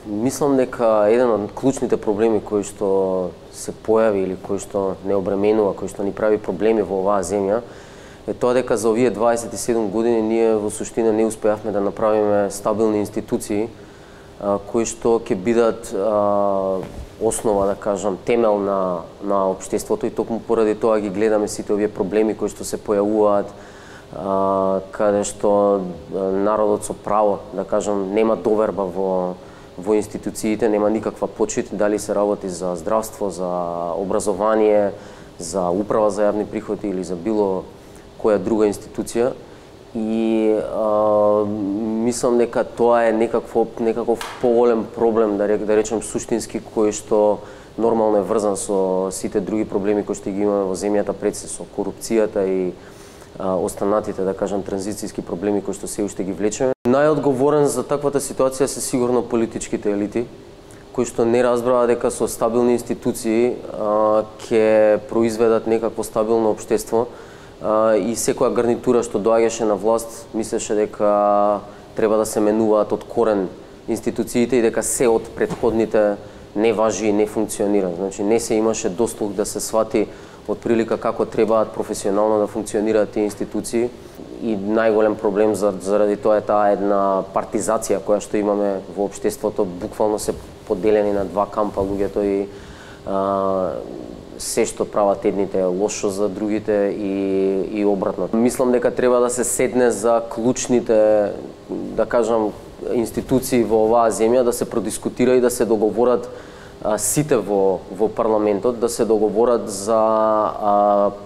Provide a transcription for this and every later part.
Мислам дека еден од клучните проблеми кои што се појави или кои што не обременува, кои што ни прави проблеми во оваа земја, е тоа дека за овие 27 години ние во суштина не успеавме да направиме стабилни институции кои што ќе бидат основа, да кажам, темел на општеството, и токму поради тоа ги гледаме сите овие проблеми кои што се појавуваат, каде што народот со право, да кажам, нема доверба во институциите, нема никаква почит, дали се работи за здравство, за образование, за управа за јавни приходи или за било која друга институција. И мислам дека тоа е некаков поголем проблем, да речем суштински, кој што нормално е врзан со сите други проблеми кои што ги имаме во земјата пред се, со корупцијата и останатите, да кажам, транзицијски проблеми кои што се уште ги влечеме. Најодговорен за таквата ситуација се сигурно политичките елити, кои што не разбраа дека со стабилни институции ќе произведат некакво стабилно општество, и секоја гарнитура што доаѓаше на власт мислеше дека треба да се менуваат од корен институциите и дека се од претходните не важи и не функционира. Значи не се имаше дослух да се свати од прилика како требаат професионално да функционираат тие институции, и најголем проблем заради тоа е таа една партизација која што имаме во општеството. Буквално се поделени на два кампа луѓето и се што прават едните е лошо за другите и обратно. Мислам дека треба да се седне за клучните, да кажам, институции во оваа земја, да се продискутира и да се договорат сите во парламентот, да се договорат за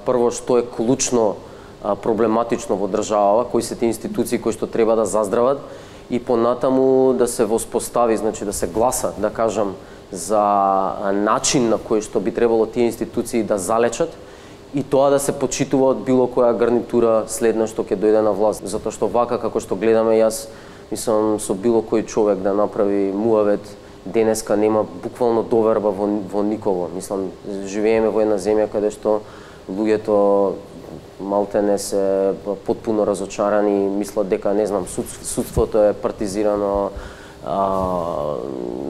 прво што е клучно проблематично во државава, кои се тие институции кои што треба да заздрават, и понатаму да се воспостави, значи да се гласа, да кажам, за начин на кој што би требало тие институции да залечат, и тоа да се почитува од било која гарнитура следна што ќе дојде на власт. Затоа што вака како што гледаме, јас мислам со било кој човек да направи муавет, денеска нема буквално доверба во никого. Мислам, живееме во една земја каде што луѓето малтене се потпуно разочарани, мислат дека, не знам, судството е партизирано,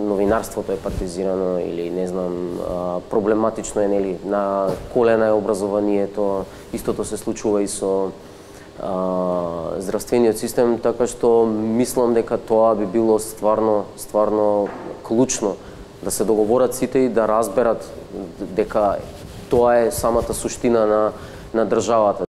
новинарството е партизирано, или не знам, проблематично е, нели, на колена е образованието, истото се случува и со здравствениот систем, така што мислам дека тоа би било стварно клучно, да се договорат сите и да разберат дека тоа е самата суштина на државата.